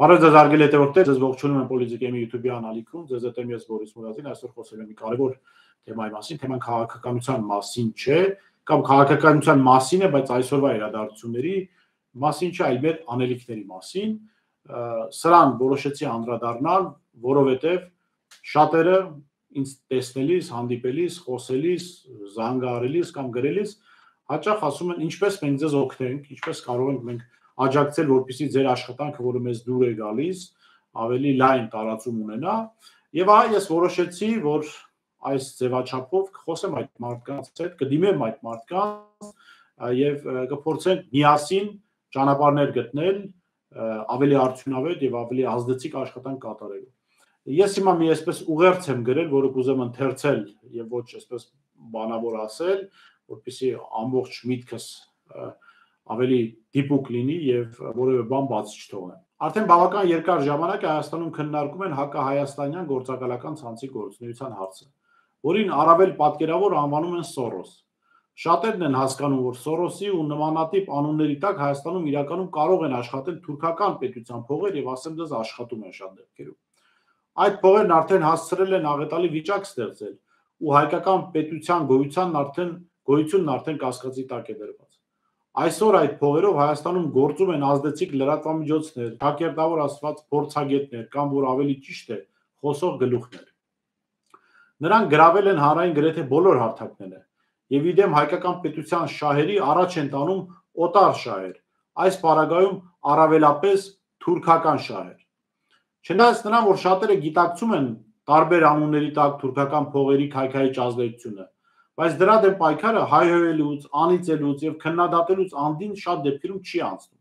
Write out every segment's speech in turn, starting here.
Բարև ձեզ հարգելի հետևորդներ, ձեզ ողջունում եմ Պոլիտիկեմի YouTube-ի անալիքում, ձեզ հետ եմ ես Բորիս Մուրադին, այսօր խոսել եմ մի կարևոր թեմայի մասին, թեման քաղաքականության մասին չէ, կամ քաղաքականության մասին է, բայց այսօրվա իրադարձությունների մասին չէ, այլ մեր անելիքների մասին, սրան որոշեցի անդրադառնալ, որովհետև շատերը ինձ տեսնելիս, հանդիպելիս, խոսելիս, զանգահարելիս կամ գրելիս հաճախ ասում են ինչպես մենք ձեզ օգնենք, ինչպես կարող ենք մենք աջակցել, որպեսզի ձեր աշխատանքը, որը մեզ դուր է գալիս, ավելի լայն տարածում ունենա, եւ ահա ես որոշեցի, որ այս ձևաչափով կխոսեմ այդ մարդկանց հետ, կդիմեմ այդ մարդկանց եւ կփորձենք միասին ճանապարհներ գտնել ավելի արդյունավետ եւ ավելի ազդեցիկ աշխատանք կատարելու։ Ես հիմա մի այսպես ուղերձ եմ գրել, որը կուզեմ ընթերցել եւ ոչ այսպես բանավոր ասել, որպեսզի ամբողջ միտքս ավելի դիպուկ լինի եւ որևէ բան բաց չթողնեմ։ Արդեն բավական երկար ժամանակ է Հայաստանում քննարկում են հակահայաստանյան գործակալական ցանցի գործունեության հարցը, որին առավել պատկերավոր անվանում են Սորոս։ Շատերն են հասկանում, որ Սորոսի ու նմանատիպ անունների տակ Հայաստանում իրականում կարող են աշխատել թուրքական պետության փողեր եւ ասեմ դες աշխատում են շատ դեպքերում։ Այդ փողերն արդեն հասցրել են աղետալի վիճակ ստեղծել ու հայկական պետության գոյությունն արդեն կասկածի տակ է դրված։ Այսօր այդ փողերով Հայաստանում գործում են ազդեցիկ լրատվամիջոցներ, ճակերտավոր ասված փորձագետներ կամ որ ավելի ճիշտ է խոսող գլուխներ։ Նրանք գրավել են հանրային գրեթե բոլոր հարթակները եւ իդեմ հայկական պետության շահերի առաջ են տանում օտար շահեր, այս պարագայում առավելապես թուրքական շահեր։ Չնայած նրան, որ շատերը գիտակցում են տարբեր անունների տակ թուրքական փողերի քայքայիչ ազդեցությունը, բայց դրա դեմ պայքարը հայհոյելուց, անիծելուց եւ քննադատելուց անդին շատ դեպքերում չի անցնում։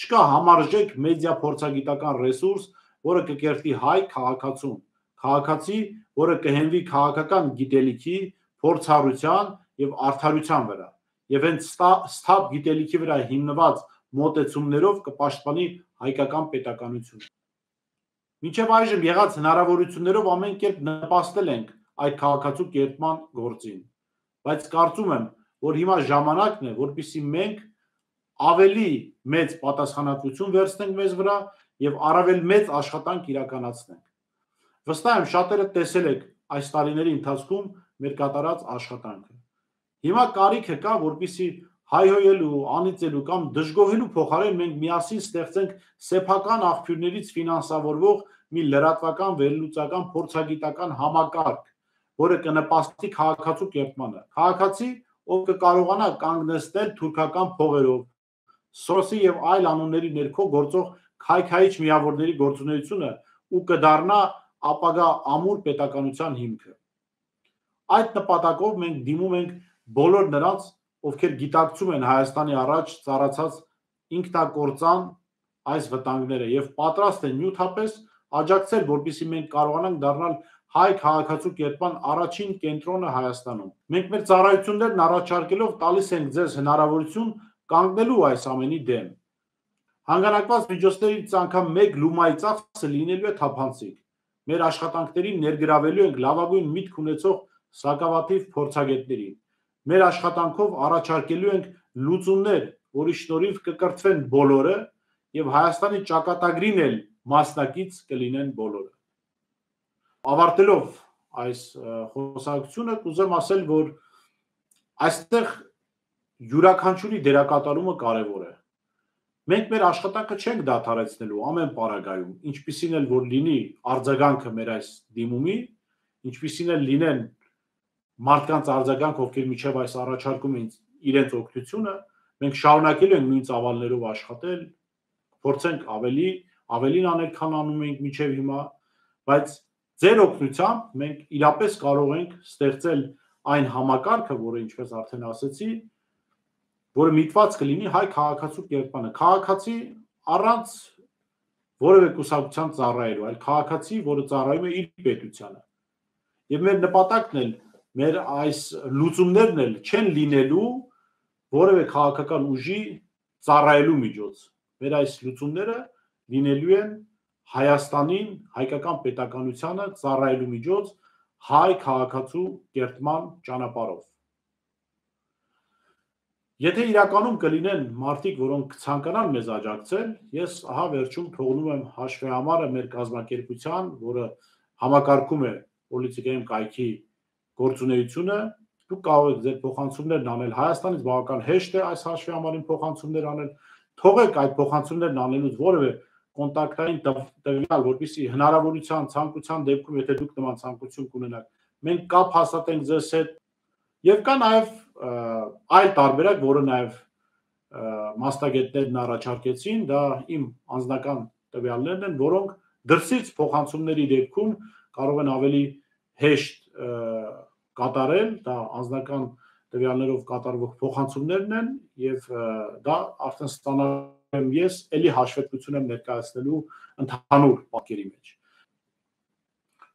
Չկա համարժեք մեդիա փորձագիտական ռեսուրս, որը կկերտի հայ քաղաքացուն, քաղաքացի, որը կհենվի քաղաքական գիտելիքի, փորձառության եւ արդարության վրա, եւ հենց սթափ գիտելիքի վրա հիմնված մոտեցումներով կպաշտպանի հայկական պետականությունը։ Մինչև այժմ եղած հնարավորություններով ամեն կերպ նպաստել ենք այդ քաղաքացու կերտման գործին, բայց կարծում եմ, որ հիմա ժամանակն է, որպեսզի մենք ավելի մեծ պատասխանատվություն վերցնենք մեզ վրա եւ առավել մեծ աշխատանք իրականացնենք։ Վստահ եմ շատերը տեսել եք այս տարիների ընթացքում մեր կատարած աշխատանքը։ Հիմա կարիքը կա, որպեսզի հայհոյելու, անիծելու կամ դժգոհելու փոխարեն մենք միասին ստեղծենք սեփական աղբյուրներից ֆինանսավորվող մի լրատվական, վերլուծական, փորձագիտական համակարգ, որը կնպաստի քաղաքացու կերտմանը։ Քաղաքացի, ով կկարողանա կանգնեցնել թուրքական փողերով, Սորոսի եւ այլ անունների ներքո գործող քայքայիչ միավորների գործունեությունը ու կդառնա ապագա ամուր պետականության հիմքը։ Այդ նպատակով մենք դիմում ենք բոլոր նրանց, ովքեր գիտակցում են Հայաստանի առաջ ծառացած ինքնակործան այս վտանգները եւ պատրաստ են նյութապես աջակցել, որպեսզի մենք կարողանանք դառնալ հայ քաղաքացու կերտման առաջին կենտրոնը Հայաստանում։ Մենք մեր ծառայություններն առաջարկելով տալիս ենք ձեզ հնարավորություն կանգնելու այս ամենի դեմ։ Հանգանակված միջոցներից անգամ մեկ լումայի ծախսը լինելու է թափանցիկ։ Մեր աշխատանքներին ներգրավելու ենք լավագույն միտք ունեցող սակավաթիվ փորձագետներին։ Մեր աշխատանքով առաջարկելու ենք լուծումներ, որի շնորհիվ կկրթվեն բոլորը եւ Հայաստանի ճակատագրին էլ մասնակից կլինեն բոլորը։ Ավարտելով այս խոսակցությունը կուզեմ ասել, որ այստեղ յուրաքանչյուրի դերակատարումը կարևոր է։ Մենք մեր աշխատանքը չենք դադարեցնելու ամեն պարագայում, ինչպիսին էլ որ լինի արձագանքը մեր այս դիմումի, ինչպիսին էլ լինեն մարդկանց արձագանք, ովքեր միջև այս առաջարկում են իրենց օգնությունը, մենք շարունակելու ենք նույն ծավալներով աշխատել, փորձենք ավելին անել, քան անում ենք միջև հիմա, բայց ձեր օգնությամբ մենք իրապես կարող ենք ստեղծել այն համակարգը, որը ինչպես արդեն ասեցի, որը միտված կլինի հայ քաղաքացու կերտմանը, քաղաքացի առանց որևէ կուսակցության ծառայելու, այլ քաղաքացի, որը ծառայում է իր պետությանը։ Եվ մեր նպատակն էլ, մեր այս լուծումներն էլ չեն լինելու որևէ քաղաքական ուժի ծառայելու միջոց։ Մեր այս լուծումները լինելու են Հայաստանին, հայկական պետականությանը ծառայելու միջոց հայ քաղաքացու կերտման ճանապարհով։ Եթե իրականում կլինեն մարդիկ, որոնք ցանկանան մեզ աջակցել, ես ահա վերջում թողնում եմ հաշվեհամարը մեր կազմակերպության, որը համակարգում է պոլիտիկայում կայքի գործունեությունը, դուք կարող եք ձեր փոխանցումներն անել Հայաստանից, բավական հեշտ է այս հաշվեհամարին փոխանցումներ անել, թողեք այդ փոխանցումներն անելուց որևէ կոնտակտային տվյալ, որպեսզի հնարավորության ցանկության դեպքում, եթե դուք նման ցանկություն կունենաք, մենք կապ հաստատենք ձեզ հետ, եւ կա նաեւ այլ տարբերակ, որը նաեւ մասնագետներն առաջարկեցին, դա իմ անձնական տվյալներն են, որոնք դրսից փոխանցումների դեպքում կարող են ավելի հեշտ կատարել, դա անձնական տվյալներով կատարվող փոխանցումներն են եւ դա արդեն ստանալու եմ ես էլի հաշվետվություն եմ ներկայացնելու ընդհանուր պատկերի մեջ։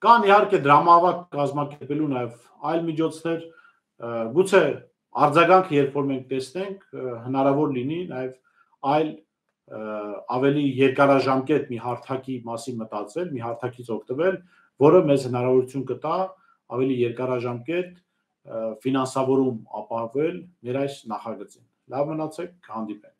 Կան իհարկե դրամավարակ կազմակերպելու նաեւ այլ միջոցներ, գուցե արձագանք երբ որ մենք տեսնենք, հնարավոր լինի նաեւ այլ ավելի երկարաժամկետ մի հարթակի մասին մտածել, մի հարթակից օգտվել, որը մեզ հնարավորություն կտա ավելի երկարաժամկետ ֆինանսավորում ապահովել մեր այս նախագծին։ Լավ մնացեք, հանդիպենք։